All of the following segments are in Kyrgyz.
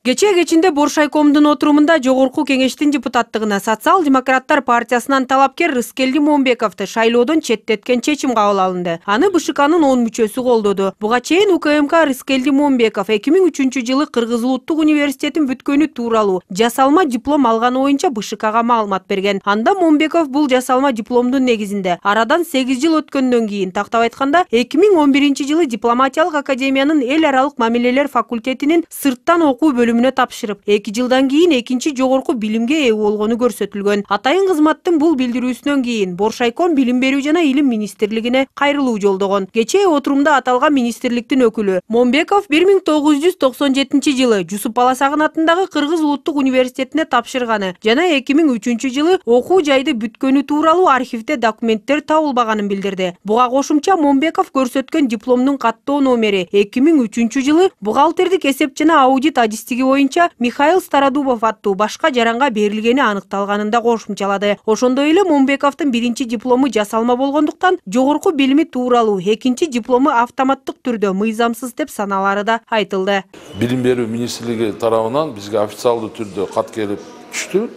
Кечинде Боршайкомдун отурумунда Жогорку Кеңештин депутаттыгына Социал-демократтар партиясынан талапкер Рыскелди Момбековду шайлоодон четтеткен чечим кабыл алынды. Аны БШКнын 10 мүчөсү колдоду. Буга чейин УКМК Рыскелди Момбеков 2003-жылы Кыргыз Улуттук университетин бүткөнү тууралуу жасалма диплом алганы боюнча БШКга маалымат берген. Анда Момбеков бул жасалма дипломдун негизинде арадан 8 жыл өткөндөн кийин, тактап айтканда 2011-жылы дипломатиялык академиянын эл аралык мамилелер факультетинин сырттан окуу бөлүмүнө тапшырып, 2 жылдан кийин экинчи жогорку билимге ээ болгону көрсөтүлгөн. Атайын кызматтын бул билдирүүсүнөн кийин Боршайком Билим берүү жана Илим министрлигине кайрылуу жолдогон. Кечээ отурумда аталган министрликтин өкүлү Момбеков 1997-жылы Жусуп Баласагын атындагы Кыргыз Улуттук университетине тапшырганы жана 2003-жылы окуу жайды бүткөнү тууралуу архивде документтер табылбаганын билдирди. Буга кошумча Момбеков көрсөткөн дипломдун каттоо номери 2003-жылы бухгалтердик эсеп жана аудит адистиги боюнча Михаил Стародубов аттуу башка жаранга берилгени аныкталганын да кошумчалады. Ошондой эле Момбековдун биринчи диплому жасалма болгондуктан жогорку билими тууралуу экинчи диплому автоматтык түрдө мыйзамсыз деп саналары да айтылды. Билим берүү министрлиги тарабынан бизге официалдуу түрдө кат келип түштү.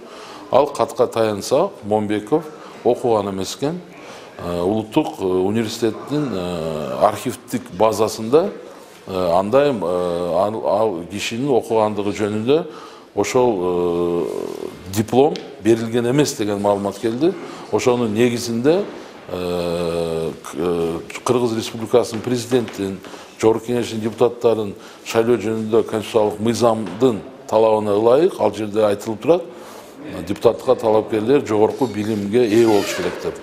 Ал катка таянса Момбеков окуган эмес экен. Улуттук университеттин архивдик базасында андай кишинин окугандыгы жөнүндө ошол диплом берилген эмес деген маалымат келди. Ошонун негизинде Кыргыз Республикасынын президентин, Жогорку Кеңештин депутаттарын шайлоо жөнүндө конституциялык мыйзамдын талабына ылайык ал жерде айтылып турат. Депутаттыкка талапкерлер жогорку билимге ээ болуш керек деп.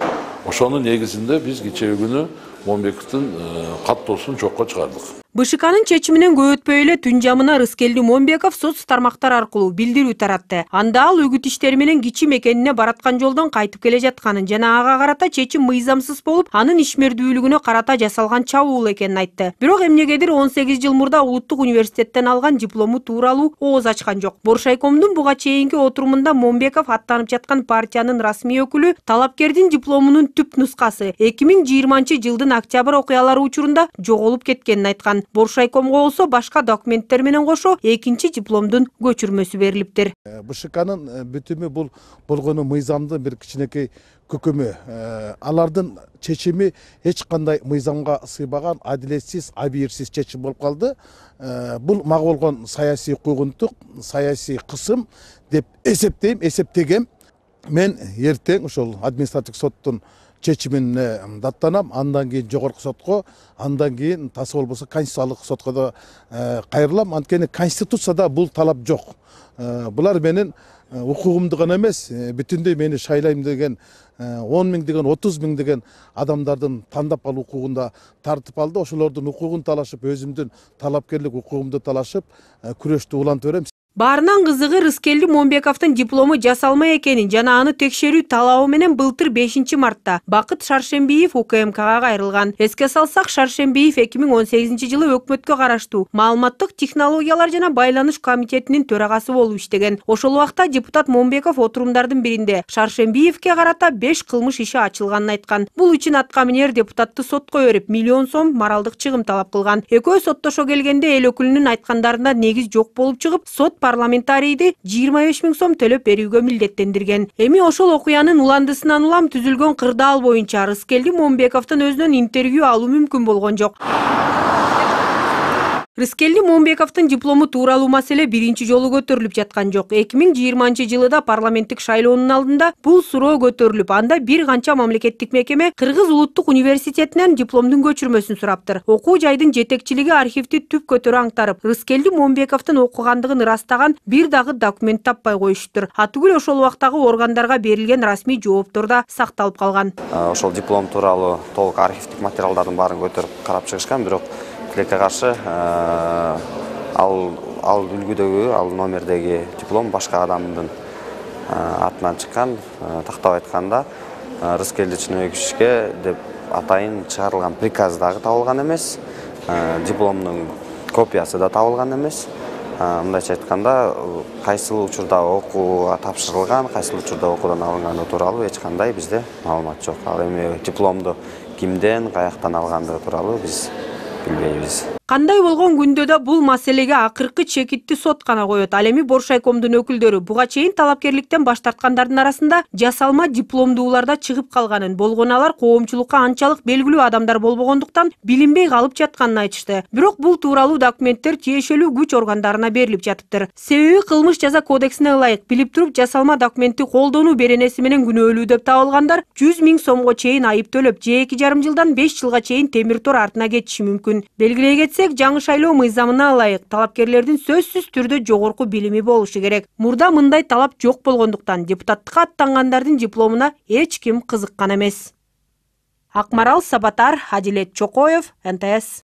Ошонун негизинде биз кечээ күнү Момбековдун каттоосун жокко чыгардык. БШКнын чечиминен көп өтпөй эле түн жамына Рыскелди Момбеков соц тармактар аркылуу билдирүү таратты. Анда ал үгүт иштери менен кичи мекенине бараткан жолдон кайтып келе жатканын жана ага карата чечим мыйзамсыз болуп, анын ишмердүүлүгүнө карата жасалган чабуул экенин айтты. Бирок эмнегедир 18 жыл мурда Улуттук университеттен алган диплому тууралуу ооз ачкан жок. Боршайкомдун буга чейинки отурумунда Момбеков аттанып жаткан партиянын расмий өкүлү талапкердин дипломунун түп нускасы 2020-жылдын октябрь окуялары учурунда жоголуп кеткенин айткан. Боршайкомго болсо башка документтер менен кошо экинчи дипломдун көчүрмөсү берилиптир. БШКнын бүтүмү бул болгону мыйзамдын бир кичинекей көкөмү. Алардын чечими эч кандай мыйзамга сыйбаган, адилетсиз, абийирсиз чечим болуп калды. Бул мага болгон саясий куугунтук, саясий кысым деп эсептегем. Мен эртең ошол административдик соттун чечимине даттанам, андан кийин жогорку сотко, андан кийин тасы болбосо конституциялык сотко да кайрылам. Анткени конституцияда бул талап жок. Булар менин укугумду гана эмес, бүтүндөй мени шайлайм деген 10 миң деген 30 миң деген адамдардын тандап алуу укугунда тартып алды. Ошолордун укугун талашып, өзүмдүн талапкерлик укугумду талашып, күрөштү улантып берем. Баарынан кызыгы Рыскелди Момбековдун диплому жасалма экенин жана аны текшерүү талабы менен былтыр 5-мартта Бакыт Шаршембиев УКМКга кайрылган. Эске салсак, Шаршембиев 2018-жылы өкмөткө караштуу Маалыматтык технологиялар жана байланыш комитетинин төрагасы болуп иштеген. Ошол убакта депутат Момбеков отурумдардын биринде Шаршембиевке карата 5 кылмыш иши ачылганын айткан. Бул үчүн атка минер депутатты сотко берип, миллион сом моралдык чыгым талап кылган. Экөө соттошо келгенде эл өкүлүнүн айткандарында негиз жок болуп чыгып, сот парламентарийди 25 миң сом төлөп берүүгө милдеттендирген. Эми ошол окуянын уландысынан улам түзүлгөн кырдаал боюнча Рыскелди Момбековдун өзүнөн интервью алуу мүмкүн болгон жок. Рыскелди Момбековдун диплому тууралуу маселе биринчи жолу көтөрүлүп жаткан жок. 2020-жылыда парламенттик шайлоонун алдында бул суроо көтөрүлүп, анда бир канча мамлекеттик мекеме Кыргыз Улуттук университетинен дипломдун көчүрмөсүн сураптыр. Окуу жайдын жетекчилиги архивди түп көтөрө аңтарып, Рыскелди Момбековдун окугандыгын ырастаган бир дагы документ таппай коюшуптур. Атүгүл ошол убактагы органдарга берилген расмий жооптор да сакталып калган. Ошол диплом тууралуу толук архивдик материалдардын баарын көтөрүп карап чыгышкан, бирок тилекке каршы ал үлгүдөгү, ал номердеги диплом башка адамдын атынан чыккан. Тактап айтканда, Рыскелди Чыныбековичке деп атайын чыгарылган приказ дагы табылган эмес, дипломдун копиясы да табылган эмес. Мындайча айтканда, кайсыл учурда окууга тапшырылган, кайсыл учурда окуудан алынганы тууралуу эч кандай бизде маалымат жок. Ал эми дипломду кимден, каяктан алгандыгы тууралуу биз билбейбиз. Кандай болгон күндө да бул маселеге акыркы чекитти сот гана коет. Ал эми Боршайкомдун өкүлдөрү буга чейин талапкерликтен баш тарткандардын арасында жасалма дипломдууларда чыгып калганын, болгону алар коомчулукка анчалык белгилүү адамдар болбогондуктан билинбей калып жатканын айтышты. Бирок бул тууралуу документтер тиешелүү күч органдарына берилип жатыптыр. Себеби кылмыш жаза кодексине ылайык билип туруп жасалма документти колдонуу беренеси менен күнөөлүү деп табылгандар 100 000 сомго чейин айып төлөп, же 2,5 жылдан 5 жылга чейин темир тор артына кетиши мүмкүн. Белгилей кетсек, жаңы шайлоо мыйзамына ылайык талапкерлердин сөзсүз түрдө жогорку билими болушу керек. Мурда мындай талап жок болгондуктан депутаттыкка аттангандардын дипломуна эч ким кызыккан эмес. Акмарал Сабатар, Адилет Чокоев, НТС.